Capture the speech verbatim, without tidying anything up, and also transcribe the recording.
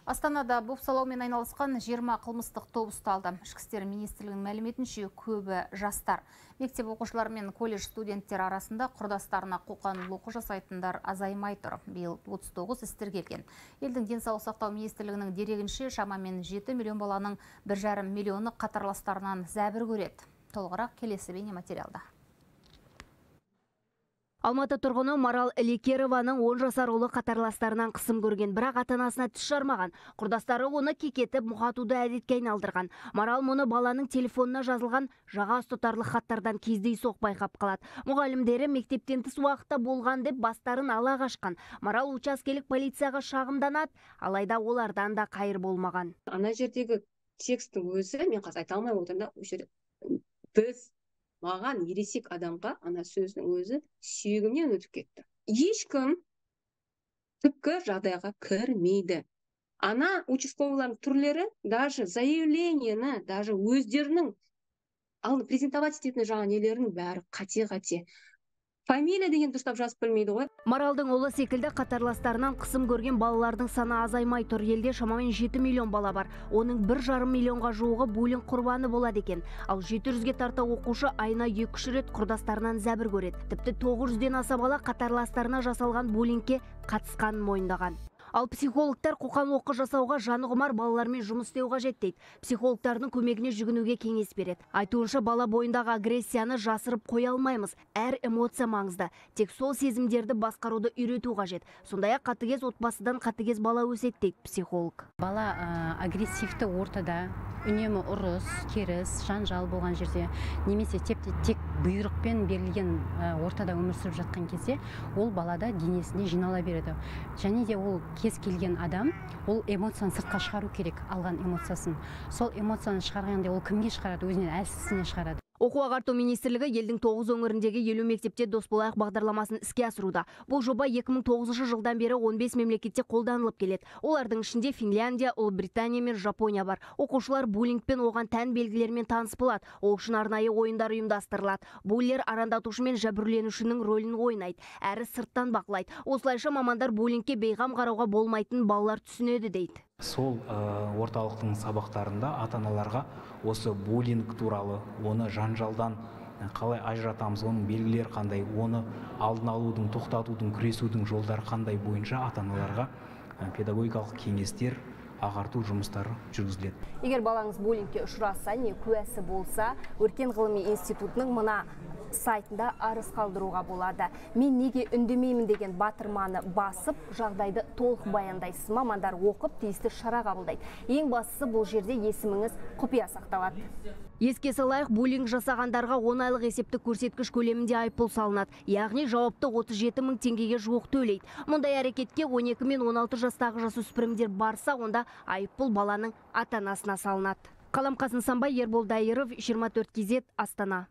Астанада бопсалаумен айналысқан жиырма қылмыстық топ ұсталды. Ішкі істер министрлігінің мәліметінше көбі жастар. Мектеп оқушылары мен колледж студенттер арасында құрдастарына қоқан-лоққы жасайтындар азаймай тұр. Биыл отыз тоғыз іс тіркелген. Елдің денсаулық сақтау министрлігінің дерегінше шамамен жеті миллион баланың бір жарым миллионы қатарластарынан зәбір көреді. Толығырақ келесі бейне материалда. Алматы тұрғыны Марал Лекерованың он жасар ұлы қатарластарынан қысым көрген, бірақ ата-анасына тіс жармаған. Құрдастары оны кекетіп, мұқатуды әдетке айналдырған. Марал мұны баланың телефонына жазылған жаға ұстатарлық хаттардан кездейсоқ байқап қалады. Мұғалімдері мектептен тыс уақытта болған деп бастарын ала қашқан. Марал учаскелік полицияға шағымданады, алайда олардан да қайыр болмаған. Ана жердегі текстің өзі, мен қазір айта алмай отырмын, біз маған ересек адамға ана сөздің өзі сүйегімнен өтіп кетті. Ешкім түпкі жағдайға кірмейді. Ана участковыйлардың түрлері даже заявлениені, даже өздерінің алды презентовать ететін жаңа нелерінің бәрі қате-қате. Фамилия деген дұрыстап жазып білмейді ғой. Маралдың ұлы секілді қатарластарынан қысым көрген балалардың саны азаймай тұр. Елде шамамен жеті миллион бала бар. Оның бір жарым миллионға жуығы буллинг құрбаны болады екен. Ал жеті жүзге тарта оқушы айына екі үш рет құрдастарынан зәбір көреді. Тіпті тоғыз жүзден аса бала қатарластарына жасалған буллингке қатысқанын мойындаған. Ал психологтар қоқан-лоққы жасауға жаны құмар балалармен жұмыс істеу қажет дейді. Психологтардың көмегіне жүгінуге кеңес береді. Айтуынша бала бойындағы агрессияны жасырып қоя алмаймыз. Әр эмоция маңызды. Тек сол сезімдерді басқаруды үйрету қажет. Сондай-ақ қатыгез отбасыдан қатыгез бала өседі дейді психолог. Бала агрессивті ортада, үнемі ұрыс, керіс, жанжал болған жерде, немесе тек бұйрықпен берілген ортада өмір сүріп жатқан кезде, ол балада денесінде жинала береді. Және де ол кез келген адам, ол эмоцияны сыртқа шығару керек, алған эмоциясын. Сол эмоцияны шығарғанда ол кімге шығарады? Өзінен әлсізіне шығарады. Оқу ағарту министрлігі елдің тоғыз өңіріндегі елу мектепте дос болайық бағдарламасын іске асыруда. Бұл жоба екі мың тоғызыншы жылдан бері он бес мемлекетте қолданылып келеді. Олардың ішінде Финляндия, Ұлыбритания мен Жапония бар. Оқушылар буллингпен оған тән белгілермен таныс болады. Ол үшін арнайы ойындар ұйымдастырылады. Буллер арандатушы мен жәбірленушінің рөлін ойнайды, әрі сырттан бақылайды. Осылайша мамандар буллингке бейғам қарауға болмайтын балалар түсінеді дейді. Сол орталықтың сабақтарында ата-аналарға осы буллинг туралы, оны жанжалдан қалай ажыратамыз, оның белгілері қандай, оны алдын алудың, тоқтатудың, күресудің жолдары қандай бойынша ата-аналарға педагогикалық кеңестер, ағарту жұмыстары жүргізіледі. Егер балаңыз буллингке ұшыраса, не куәсі болса, Өркен ғылыми институтының мына сайтында арыз қалдыруға болады. Мен неге үндемеймін деген батырманы басып, жағдайды толық баяндайсыз. Мамандар оқып, тиісті шара қабылдайды. Ең бастысы бұл жерде есіміңіз құпия сақталады. Еске салайық, буллинг жасағандарға он айлық есептік көрсеткіш көлемінде айыппұл салынады. Яғни жауапты отыз жеті мың теңгеге жуық төлейді. Мұндай әрекетке он екі мен он алты жастағы жасөспірімдер барса, онда айыппұл баланың ата-анасына салынады. Қаламқас Нысанбай, Ербол Дайыров, жиырма төрт кей зет, Астана.